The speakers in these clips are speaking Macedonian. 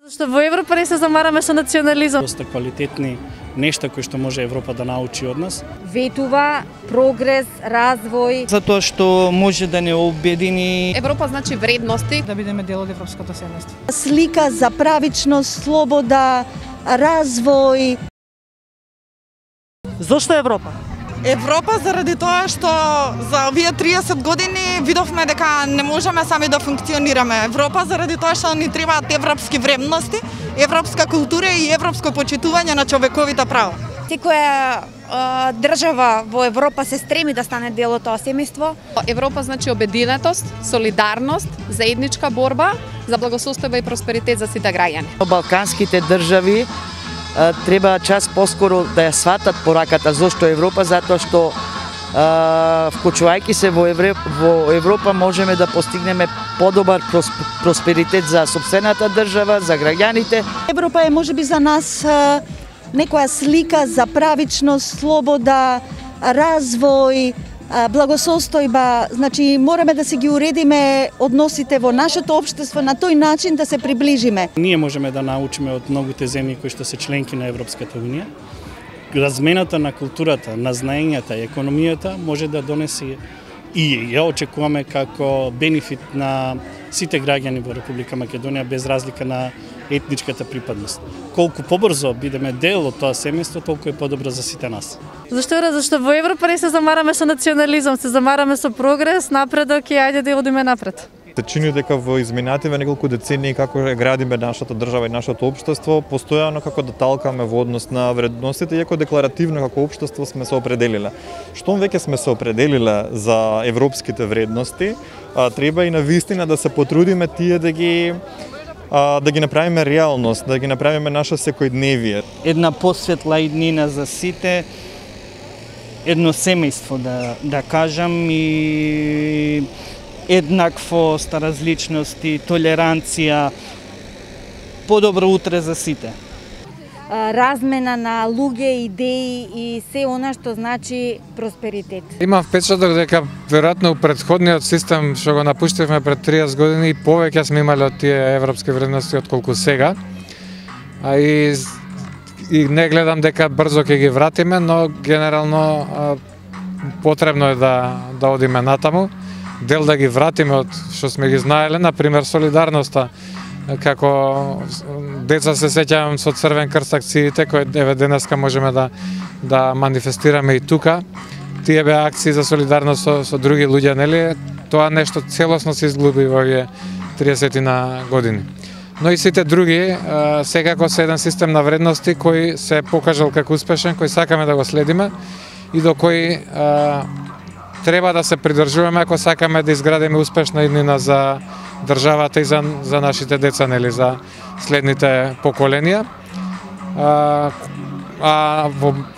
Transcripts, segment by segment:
Што во Европа не се замараме со национализам. Доста квалитетни нешта кои што може Европа да научи од нас. Ветува, прогрес, развој. Затоа што може да не обедини. Европа значи вредности. Да бидеме дел од европското семејство. Слика за правичност, слобода, развој. Зошто Европа? Европа заради тоа што за овие 30 години видовме дека не можеме сами да функционираме. Европа заради тоа што ни требаат европски вредности, европска култура и европско почитување на човековите права. Секоја држава во Европа се стреми да стане дел од тоа семејство. Европа значи обединетост, солидарност, заедничка борба за благосостојба и просперитет за сите граѓани. Балканските држави треба час поскоро да ја сватат пораката. Зошто Европа? Затоа што вклучувајќи се во Европа можеме да постигнеме подобар просперитет за сопствената држава, за граѓаните. Европа е можеби за нас некоја слика за правичност, слобода, развој, благосостојба. Значи мораме да се ги уредиме односите во нашето општество на тој начин да се приближиме. Ние можеме да научиме од многуте земји кои што се членки на Европската унија. Размената на културата, на знаењата и економијата може да донесе и ја очекуваме како бенефит на сите граѓани во Република Македонија без разлика на етничката припадност. Колку побрзо бидеме дел од тоа семејство, толку е подобро за сите нас. Зашто во Европа не се замараме со национализам, се замараме со прогрес, напредок и ајде да одиме напред. Се чини дека во изминативе неколку децении како градиме нашата држава и нашето општество, постојано како да талкаме во однос на вредностите, иако декларативно како општество сме се определиле. Штом веќе сме се определиле за европските вредности, треба и навистина да се потрудиме тие да ги направиме реалност, да ги направиме наша секојдневие. Една посветла иднина за сите, едно семејство да кажам и еднаквост, различности, толеранција, подобро утре за сите. Размена на луѓе, идеи и се она што значи просперитет. Имам впечаток дека веројатно претходниот систем што го напуштивме пред 30 години повеќе сме имале од тие европски вредности отколку сега. И не гледам дека брзо ќе ги вратиме, но генерално потребно е да одиме натаму. Дел да ги вратиме од што сме ги знаеле, например солидарноста. Како деца се сеќавам со Црвен крст акциите кои денеска можеме да манифестираме и тука. Тие беа акции за солидарност со други луѓе, нели? Тоа нешто целосно се изгуби во овие 30 на години. Но и сите други секако се еден систем на вредности кој се покажал како успешен, кој сакаме да го следиме и до кој треба да се придржуваме ако сакаме да изградиме успешна иднина за државата и за нашите деца, нели, за следните поколенија.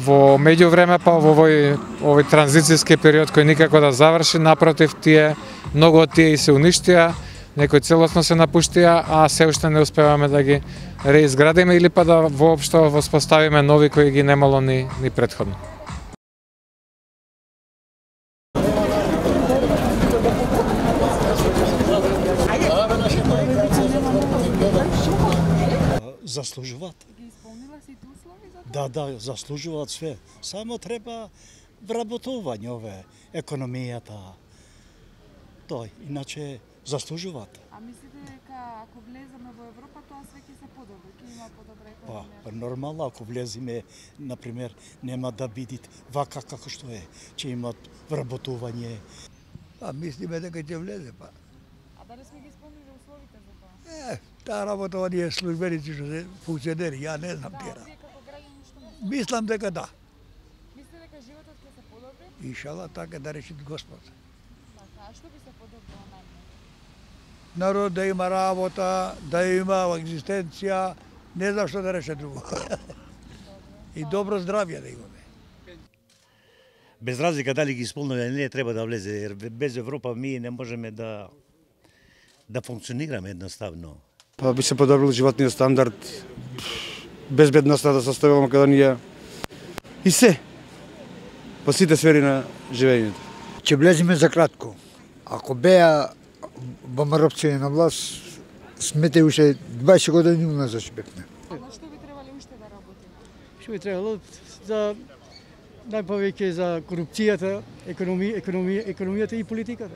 Во меѓувреме па во овој транзицијски период кој никако да заврши, напротив, многу од тие и се уништија, некои целосно се напуштија, а се уште не успеваме да ги реизградиме или па да воопшто воспоставиме нови кои ги немало ни претходно. Заслужуваат. Да, заслужуваат све. Само треба вработување ове економијата. Тој, иначе заслужуваат. А мислите дека ако влеземе во Европа тоа све ќе се подобри, ќе има подобра економија? Па нормално, ако влеземе, например, нема да биде вака како што е, ќе имат вработување. Мислиме дека ќе влезе, па. А дали сме ги исполнили условите за тоа? Таа работа оние службеници што се функционери, ја не знам тера. Мислам дека да. Мислите дека животот ќе се подобри? Иншала, така да речи Господ. А што би се подобрило најмногу? Народ да има работа, да има екзистенција, не знам што да реше друго. И добро здравје да имаме. Без разлика дали ги исполнува или не, треба да влезе, jer без Европа ми не можеме да функционираме едноставно. Па би се подобрил животниот стандард, безбедноста да состои во Македонија и се по сите сфери на живењето. Ќе влеземе за кратко. Ако беа ВМРО на власт, смете уште 20 години уназад што бевме. Што би требало уште да работи? Што би требало за најповеќе за корупцијата, економијата и политиката.